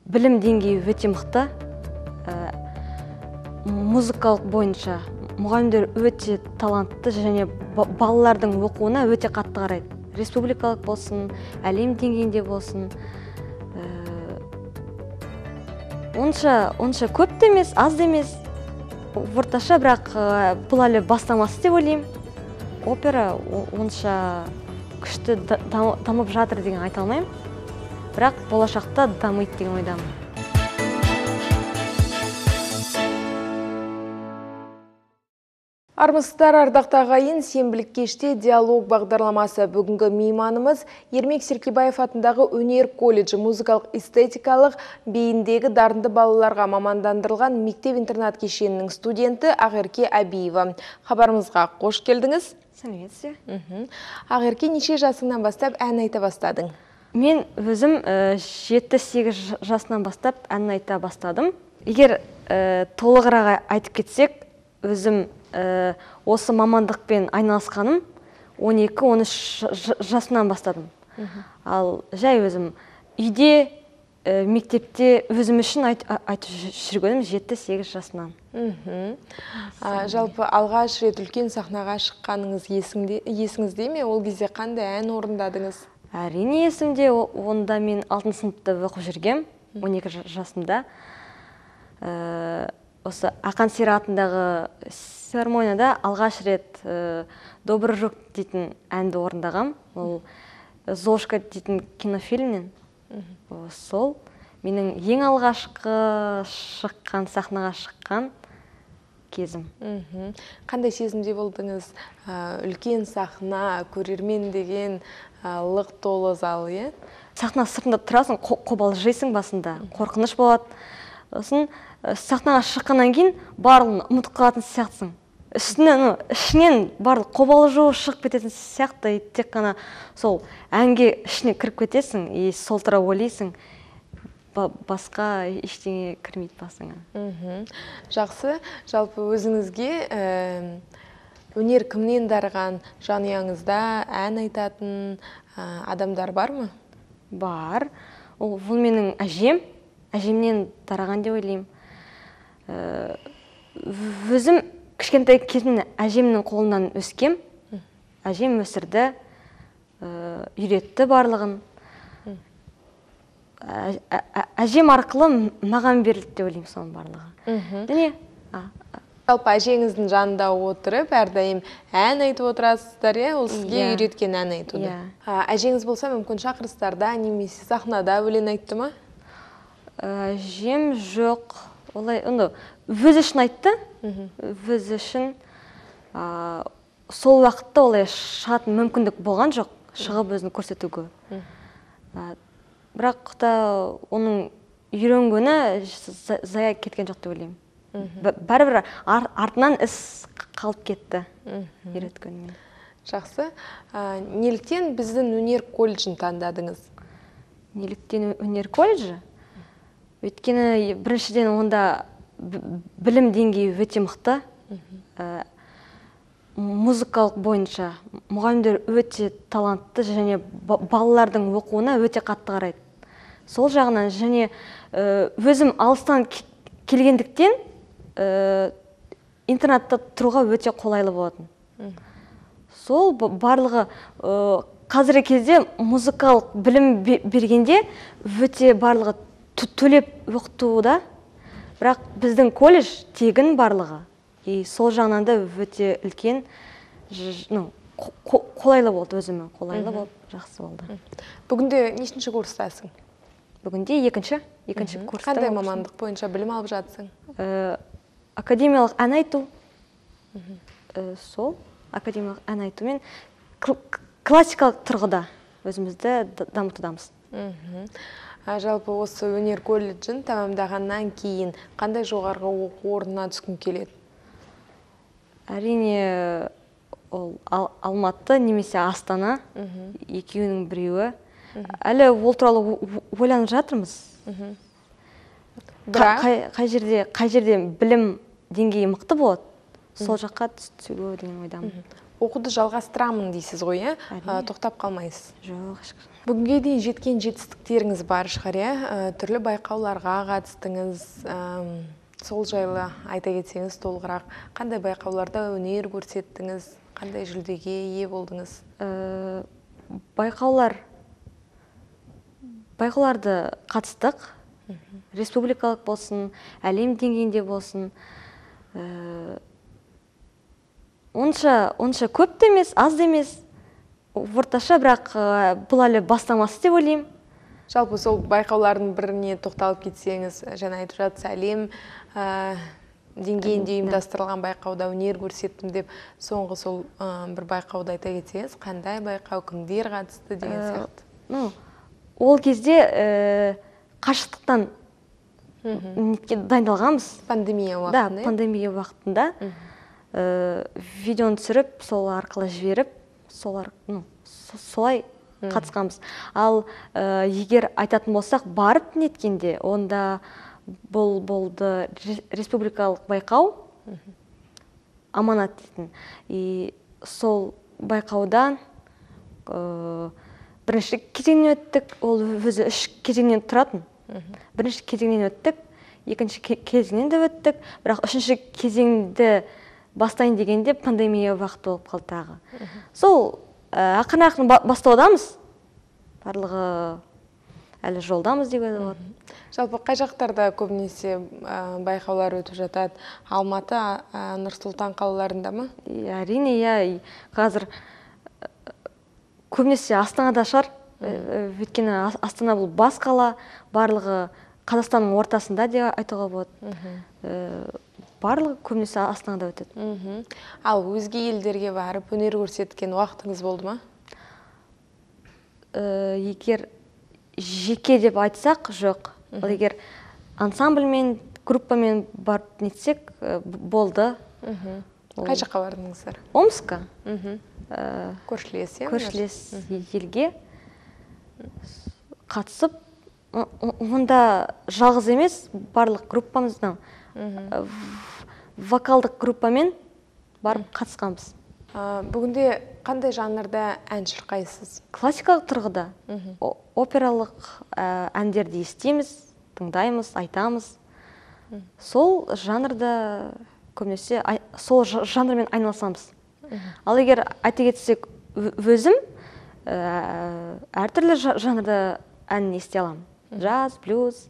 білім деңгейі өте мықты. Музыкалық бойынша мұғалімдер өте талантты және балалардың оқуына өте қатты қарайды. Республикалық болсын, әлем деңгейінде болсын. Онша көп те емес, аз да емес. Орташа, бірақ бұл әлі бастамасы деп ойлаймын. Опера онша күшті дамып жатыр деген айта алмаймын. Бірақ болашақта дамиды деген ойдамын. Армысыздар, ардақты ағайын, сенбілік кеште диалог бағдарламасы. Бүгінгі мейманымыз Ермек Серкебаев атындағы өнер колледжі музыкалық эстетикалық бейіндегі дарынды балаларға мамандандырылған мектеп-интернат кешенінің студенті Ақерке Әбиева. Хабарымызға қош келдіңіз. Сәлеметсіз. Ақерке, неше жасыңнан бастап ән айта бастадың? Мен өзім 7-8 жасынан бастап ән айта бастадым. Егер толығырақ айтып кетсек, өзім осы мамандықпен айналысқаным 12-13 жасынан бастадым. Ал жай өзім үйде, мектепте өзім үшін айтып жүргенім 7-8 жасынан. Жалпы алғаш рет үлкен сахнаға шыққаныңыз есіңізде ме? Ол кезде қандай ән орындадыңыз? Әрине есімде. Онда мен 6 сыныпта оқып жүргем, 12 жасымда. Осы Ақан Сері атындағы филармонияда алғаш рет «Добрый рук» дейтін әнді орындағам. Ол «Зошка» дейтін кинофильмнен. Сол менің ең алғашқы сахнаға шыққан кезім. Қандай сезімде болдыңыз? Үлкен сахна, көрермен деген лық толы зал, е? Сахна сыртында тұрасың, қобалжисың басында, қорқыныш болады. Сосын сахнаға шыққаннан кейін барлығын ұмытып қалатын сияқтысың. Ішінен барлық қобалжу шығып кететін сияқты, тек қана сол әнге ішіне кіріп кетесің, сол тұра ойлайсың, басқа ештеңе кірмейді басыңа. Жақсы. Жалпы өзіңізге өнер кімнен дарыған, жанұяңызда ән айтатын адамдар бар ма? Бар. Ол менің әжемнен дарыған деп ойлаймын. Өзім кішкентай кезімнен әжемнің қолынан өскем. Әжем өсірді, үйретті барлығын. Әжем арқылы маған берілді деп ойлаймын соның барлығы. Жалпы әжеңіздің жанында отырып, әрдайым ән айтып отырасыздар, ол сізге үйреткен ән айтуды. Әжеңіз болса мүмкін шақырыстарда, немесе сахнада өлең айтты ма? Әжем жоқ. Олай, өз үшін айтты. Өз үшін сол уақытта олай шығатын мүмкіндік болған жоқ, шығып өзін көрсетуге. Бірақ та оның үйренгені зая кеткен жоқ деп ойлаймын. Бәрібір артынан іс қалып кетті үйреткенімен. Жақсы. Неліктен біздің өнер колледжін таңдадыңыз? Неліктен өнер колледжі? Өйткені біріншіден онда білім деңгейі өте мықты. Музыкалық бойынша мұғалімдер өте талантты және балалардың оқуына өте қатты қарайды. Сол жағынан және өзім алыстан келгендіктен интернатта тұруға өте қолайлы болатын. Сол барлығы қазіргі кезде музыкалық білім бергенде өте барлығы төлеп оқытуда, бірақ біздің колледж тегін барлығы. Сол жағынан да өте үлкен қолайлы болды өзіме, қолайлы болды, жақсы болды. Бүгінде нешінші курстасың? Бүгінде екінші курста. Қандай мамандық бойынша білім алып жатсың? Академиялық ән айту. Сол академиялық ән айтумен классикалық тұрғыда өзімізді дамытудамыз. Жалпы осы өнер колледжін тәмамдағаннан кейін қандай жоғарғы оқу орнына түскің келеді? Әрине Алматы немесе Астана, екеуінің біреуі. Әлі ол туралы ойланып жатырмыз. Қай жерде білім деңгейі мықты болады, сол жаққа түсуге деген ойдамын. оқуды жалғастырамын дейсіз ғой, тоқтап қалмайсыз? Жоқ, ешқашан. Бүгінге дейін жеткен жетістіктеріңіз бар шығар, түрлі байқауларға қатыстыңыз, сол жайлы айта кетсеңіз толығырақ, қандай байқауларда өнер көрсеттіңіз, қандай жүлдеге ие болдыңыз? Байқауларды қатыстық, республикалық болсын, әлем деңгейінде болсын, онша көп те емес, аз да емес, орташа, бірақ бұл әлі бастамасы деп ойлаймын. Жалпы сол байқаулардың біріне тоқталып кетсеңіз, жаңа айтып жатсыз, әлем деңгейінде ұйымдастырылған байқауда өнер көрсеттім деп, соңғы сол бір байқауда айта кетсеңіз, қандай байқау, кімдер қатысты деген сияқты? Ол кезде қашықтықтан дайындалғанбыз. Пандемия уақытында? Да, пандемия уақытында видеоны түсіріп, сол арқылы жіберіп, солай қатысқанбыз. Ал егер айтатын болсақ, барып неткенде, онда бұл болды республикалық байқау, аманат дейтін. И сол байқаудан бірінші кезеңнен өттік, ол өзі 3 кезеңнен тұратын. Бірінші кезеңнен өттік, екінші кезеңнен де өттік, бірақ 3-ші кезеңді бастайын дегенде пандемия уақыт болып қалды тағы. Сол ақырын бастаудамыз, барлығы әлі жолдамыз деп болады. Жалпы қай жақтарда көбінесе байқаулар өтіп жатады? Алматы, Нұр-Сұлтан қалаларында ма? Әрине, қазір көбінесе Астанада шығар, өйткені Астана бұл бас қала, барлығы Қазақстанның ортасында деп айтуға болады. Барлығы көбінесе Астанада өтеді. Ал өзге елдерге барып өнер көрсеткен уақытыңыз болды ма? Егер жеке деп айтсақ, жоқ. Егер ансамбльмен, группамен барып нетсек, болды. Қай жаққа бардыңыздар? Омска. Көршілес елге қатысып, онда жалғыз емес, барлық группамыздан вокалдық группамен барып қатысқанбыз. Бүгінде қандай жанрда ән шырқайсыз? Классикалық тұрғыда, опералық әндерді естиміз, тыңдаймыз, айтамыз. Сол жанрда көбінесе сол жанрмен айналысамыз. Ал егер айта кетсек, өзім әртүрлі жанрда ән ести аламын. Джаз, блюз,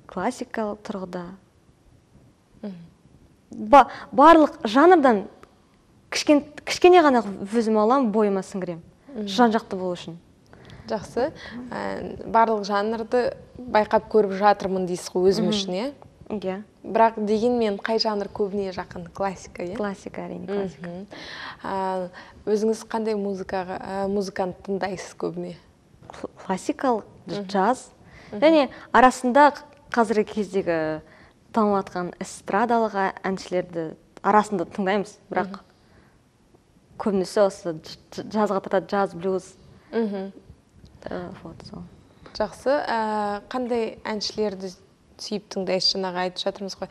классикалық тұрғыда. Барлық жанрдан кішкене ғана өзім аламын, бойыма сіңірем. Жан-жақты болу үшін. Жақсы. Барлық жанрды байқап көріп жатырмын дейсіз ғой өзім үшін, е? Иә. Бірақ дегенмен қай жанр көбіне жақын? Классика, е? Классика, әрине, классика. Өзіңіз қандай музыканы тыңдайсыз көбіне? Классикалық, джаз. Және арасында қазіргі кездегі танылып жатқан эстрадалық әншілерді арасында тыңдаймыз, бірақ көбінесе осы джазға тартады, джаз, блюз. Жақсы. Қандай әншілерді сүйіп тыңдайсыз? Жаңағы айтып жатырмыз ғой.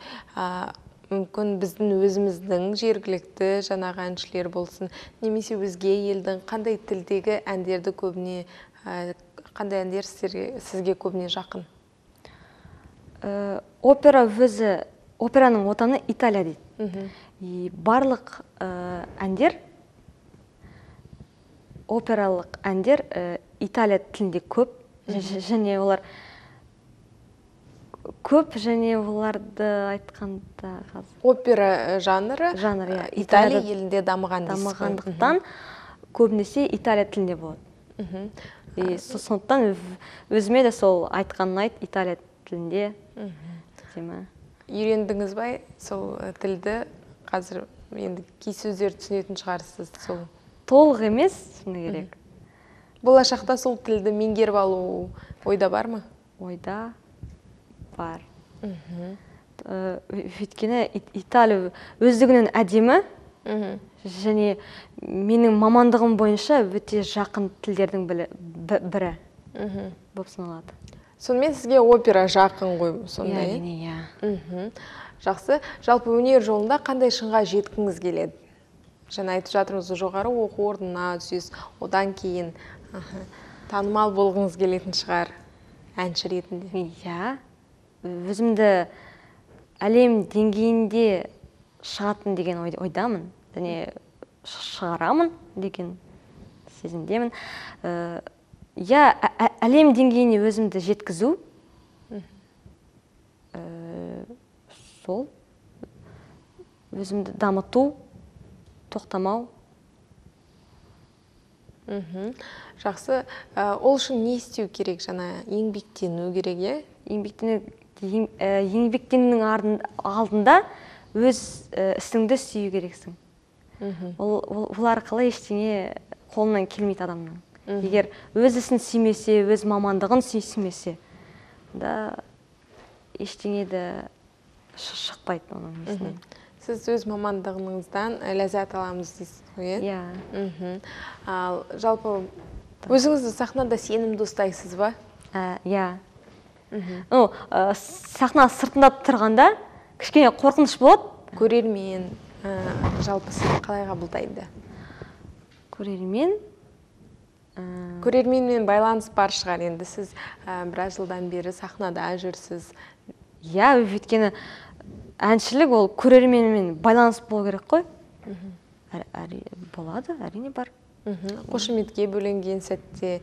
Мүмкін біздің өзіміздің жергілікті жаңағы әншілер болсын, немесе өзге елдің қандай тілдегі әндерді көбіне, қандай әндер сізге көбіне жақын? Операның отаны Италия дейді. Барлық әндер, опералық әндер Италия тілінде көп, және олар көп, және оларды айтқанда опера жанры Италия елінде дамығандықтан көбінесе Италия тілінде болады. Сондықтан өзіме де сол айтқанын айт, Италия тілінде. Үйрендіңіз бай сол тілді? Қазір енді кей сөздер түсінетін шығарсыз? Толық емес, шыны керек. Болашақта сол тілді меңгеріп алу ойда бар ма? Ойда бар. Өйткені Италия өздігінен әдемі, және менің мамандығым бойынша өте жақын тілдердің бірі болып саналады. Сонымен сізге опера жақын ғой сондай? Әрине, иә. Жақсы. Жалпы өнер жолында қандай шыңға жеткіңіз келеді? Жаңа айтып жатырмыз, жоғары оқу орнына түсесіз, одан кейін танымал болғыңыз келетін шығар әнші ретінде. Иә, өзімді әлем деңгейінде шығатын деген ойдамын, және шығарамын деген сезімдемін. Иә, әлем деңгейіне өзімді жеткізу, сол өзімді дамыту, тоқтамау. Жақсы. Ол үшін не істеу керек? Жаңа еңбектену керек, еңбектенудің алдында өз ісіңді сүю керексің. Ол арқылы ештеңе қолынан келмейді адамның. Егер өз ісін сүймесе, өз мамандығын сүймесе, да ештеңе де шықпайды оның есінен. Сіз өз мамандығыңыздан ләззат аламыз дейсіз ғой? Иә. Ал жалпы өзіңізді сахнада сенімді ұстайсыз ба? Иә. Сахна сыртында тұрғанда кішкене қорқыныш болады. Көрермен жалпы сізді қалай қабылдайды? Көрерменмен байланыс бар шығар, енді сіз біраз жылдан бері сахнада жүрсіз. Иә, өйткені әншілік ол көрерменмен байланыс болу керек қой. Болады, әрине бар. Қошеметке бөленген сәтте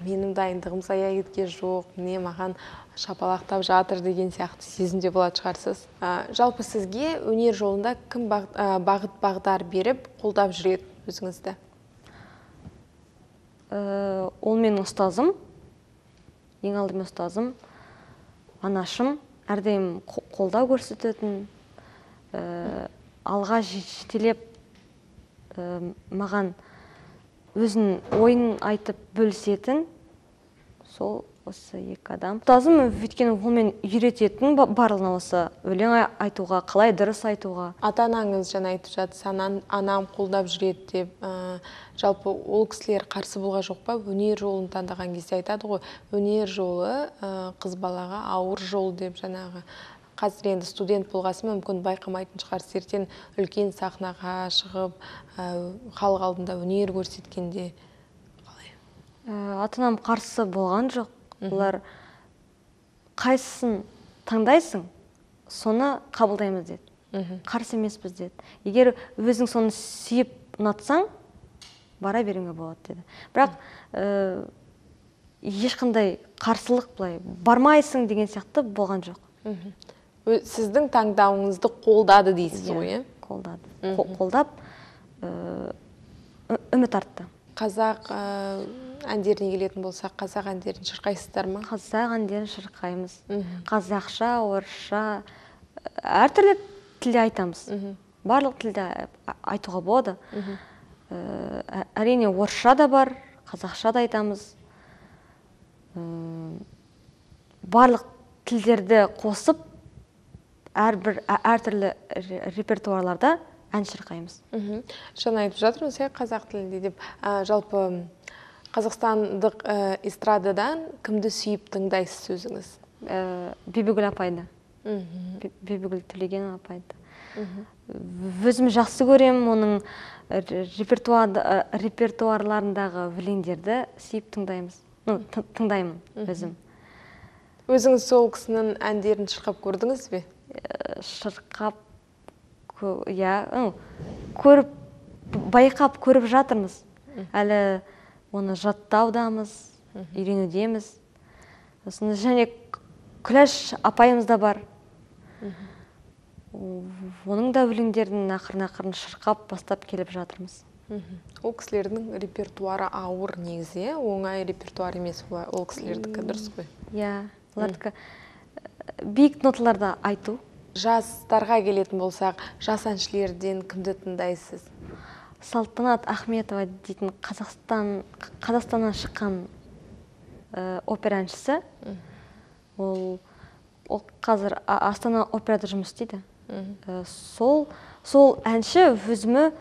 менің дайындығым зая кеткен жоқ, міне маған шапалақтап жатыр деген сияқты сезімде болады шығарсыз. Жалпы сізге өнер жолында кім бағыт бағдар беріп, қолдап жүреді өзіңізді? Ол менің ұстазым, ең алдымен ұстазым, анашым, әрдайым қолдау көрсететін, алға жетелеп маған өзін ойын айтып бөлісетін, сол осы екі адам. Ұстазым өйткені ол мен үйрететін барлығына, осы өлең айтуға, қалай дұрыс айтуға. Ата-анаңыз жаңа айтып жатсыз, анам қолдап жүреді деп, жалпы ол кісілер қарсы болған жоқ па? Өнер жолын таңдаған кезде айтады ғой, өнер жолы қыз балаға ауыр жол деп, жаңағы қазір енді студент болғасын мүмкін байқамайтын шығар, ертең үлкен сахнаға шығып, халық алдында өнер көрсеткенде қалай? Ата-анам қарсы болған жоқ. Олар қайсысын таңдайсың, соны қабылдаймыз деді. Қарсы емеспіз деді. Егер өзің соны сүйіп ұнатсаң, бара беруіңе болады деді. Бірақ ешқандай қарсылық былай бармайсың деген сияқты болған жоқ. Сіздің таңдауыңызды қолдады дейсіз ғой? Қолдады. Қолдап, үміт артты. Қазақ әндеріне келетін болсақ, қазақ әндерін шырқайсыздар ма? Қазақ әндерін шырқаймыз. Қазақша, орысша, әртүрлі тілде айтамыз. Барлық тілде айтуға болады. Әрине орысша да бар, қазақша да айтамыз. Барлық тілдерді қосып, әртүрлі репертуарларда ән шырқаймыз. Жаңа айтып жатырмыз, қазақ тілінде деп. Жалпы қазақстандық эстрададан кімді сүйіп тыңдайсыз өзіңіз? Бибігүл апайды. Бибігүл Төлеген апайды. Өзім жақсы көрем, оның репертуарларындағы өлеңдерді сүйіп тыңдаймын өзім. Өзіңіз сол кісінің әндерін шырқап көрдіңіз бе? Шырқап, байқап көріп жатырмыз. Әлі оны жаттаудамыз, үйренудеміз. Және Күләш апайымыз да бар. Оның да өлеңдерін ақырын шырқап бастап келіп жатырмыз. Ол кісілердің репертуары ауыр негізі, оңай репертуар емес ол кісілердікі, дұрыс қой? Иә, олардікі биік ноталарда айту. Жастарға келетін болсақ, жас әншілерден кімді тыңдайсыз? Салтанат Ахметова дейтін Қазақстаннан шыққан опера әншісі. Ол қазір Астана операда жұмыс істейді. Сол әнші өзімі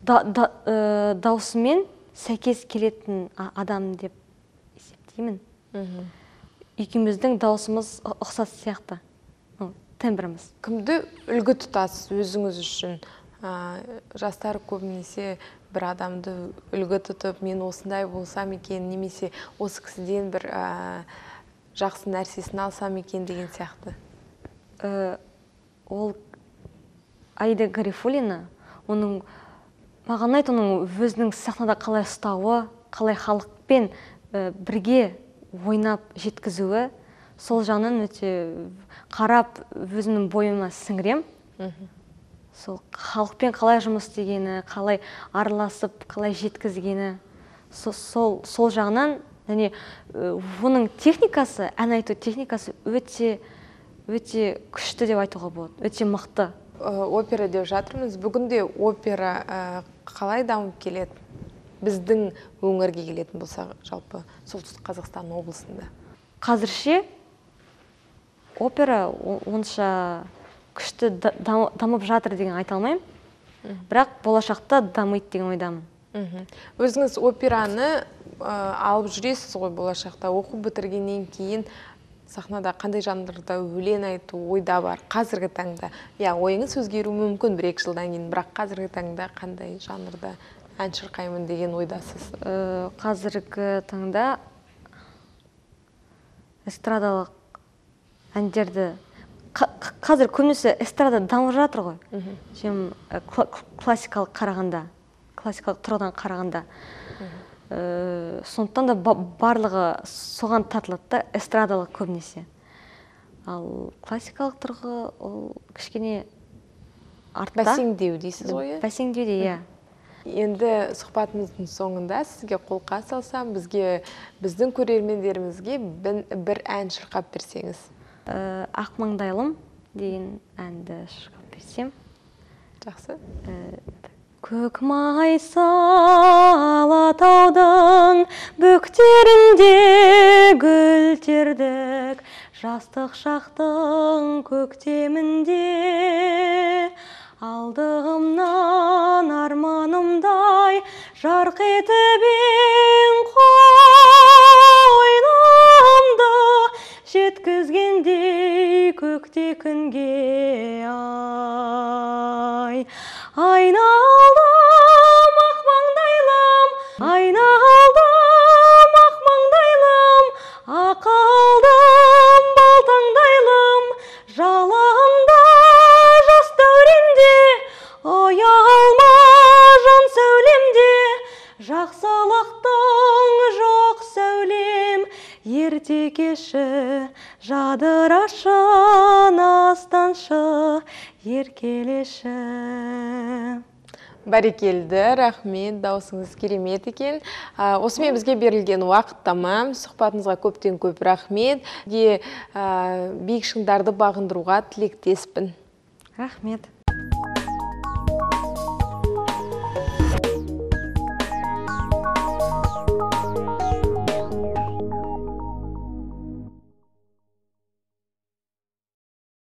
даусымен сәйкес келетін адам деп есептеймін. Екеуміздің даусымыз ұқсас сияқты. тембріміз. Кімді үлгі тұтасыз өзіңіз үшін? Жастар көбінесе бір адамды үлгі тұтып, мен осындай болсам екен, немесе осы кісіден бір жақсы нәрсесін алсам екен деген сияқты. Ол Аида Гарифуллина, маған ұнайды оның өзінің сахнада қалай ұстауы, қалай халықпен бірге ойнап жеткізуі, сол жағынан өте қарап өзімнің бойыма сіңірем. Сол халықпен қалай жұмыс істегені, қалай араласып, қалай жеткізгені, сол жағынан, және оның техникасы, ән айту техникасы өте күшті деп айтуға болады, өте мықты. Опера деп жатырмыз. Бүгінде опера қалай дамып келеді? Біздің өңірге келетін болса, жалпы Солтүстік Қазақстан облысында. Қазірше опера онша күшті дамып жатыр деген айта алмаймын, бірақ болашақта дамиды деген ойдамын. Өзіңіз операны алып жүресіз ғой болашақта, оқу бітіргеннен кейін сахнада қандай жанрда өлең айту ойда бар қазіргі таңда? Ойыңыз өзгеру мүмкін 1-2 жылдан кейін, бірақ қазіргі таңда қандай жанрда ән шырқаймын деген ойдасыз? Қазіргі таңда эстрадалық әндерді, қазір көбінесе эстрада дамып жатыр ғой. Классикалық тұрғыдан қарағанда. Сондықтан да барлығы соған тартылады да, эстрадалық көбінесе. Ал классикалық тұрғы ол кішкене артта. Бәсеңдеу дейсіз ғой? Бәсеңдеу де, иә. Енді сұхбатымыздың соңында сізге қолқа салсам, біздің көрермендерімізге бір ән шырқап берсеңіз. Ақ маңдайлым деген әнді шырқап берсем. Жақсы. Көк майса алатаудың бөктерінде гүл тердік, жастық шақтың көктемінде алдығымнан арманымдай жарқ етіп ең қойнымды жеткізгендей көкте күнге айналдым ақ маңдайлым, айналдым ақ маңдайлым, ақылдым балтаңдайлым, жалында жас дәуренде, ұялма жан сәулемде, жақсылықтың жоқ сәулем, ерте кеші жадырашы, настаншы, еркелеші. Бәрекелді, рахмет, даусыңыз керемет екен. Осымен бізге берілген уақыт тамам. Сұхбатыңызға көптен көп рахмет. Биік шыңдарды бағындыруға тілектеспін. Рахмет.